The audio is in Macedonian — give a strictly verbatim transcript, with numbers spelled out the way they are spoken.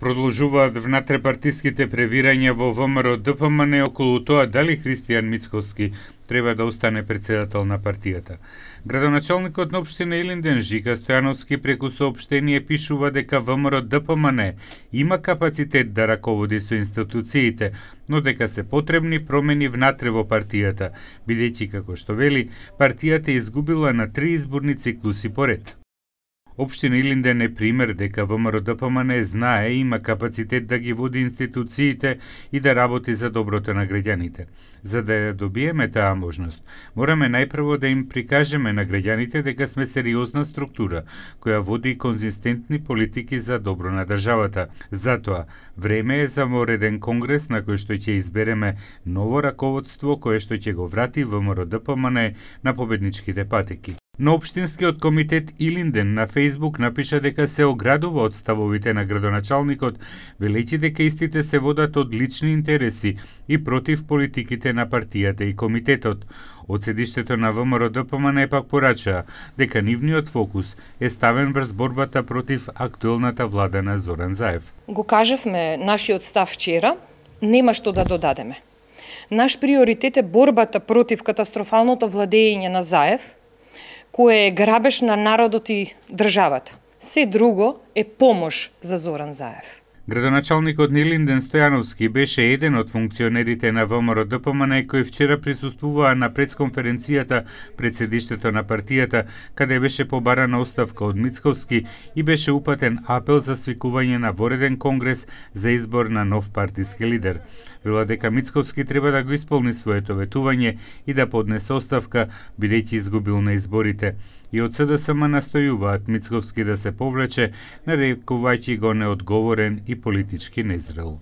Продолжуваат внатрепартиските превирања во ВМРО-ДПМН околу тоа дали Христијан Мицковски треба да остане председател на партијата. Градоначалникот на општина Илинден Жика Стојановски преку соопштение пишува дека ВМРО-ДПМН има капацитет да раководи со институциите, но дека се потребни промени внатре во партијата, бидејќи, како што вели, партијата изгубила на три изборни циклуси поред. Општина Илинден е пример дека ВМРО-ДПМН знае и има капацитет да ги води институциите и да работи за доброто на граѓаните. За да ја добиеме таа можност, мораме најпрво да им прикажеме на граѓаните дека сме сериозна структура која води конзистентни политики за добро на државата. Затоа, време е за вореден конгрес на кој што ќе избереме ново раководство кое што ќе го врати ВМРО-ДПМН на победничките патеки. Но Општинскиот комитет Илинден на Фејсбук напиша дека се оградува од ставовите на градоначалникот, велејќи дека истите се водат од лични интереси и против политиките на партијата и комитетот. Од седиштето на ВМРО-ДПМН пак порачаа дека нивниот фокус е ставен врз борбата против актуелната влада на Зоран Заев. Го кажавме нашиот став вчера, нема што да додадеме. Наш приоритет е борбата против катастрофалното владење на Заев, кое е грабеж на народот и државата. Се друго е помош за Зоран Заев. Градоначалникот на Илинден Стојановски беше еден од функционерите на ВМРО-ДПМН кој вчера присуствуваа на пресконференцијата пред седиштето на партијата, каде беше побарана оставка од Мицковски и беше упатен апел за свикување на вореден конгрес за избор на нов партиски лидер. Вела дека Мицковски треба да го исполни своето ветување и да поднесе оставка, бидејќи изгубил на изборите. И од СДСМ настојуваат Мицковски да се повлече, нарекувајќи го неодговорен и политички незрел.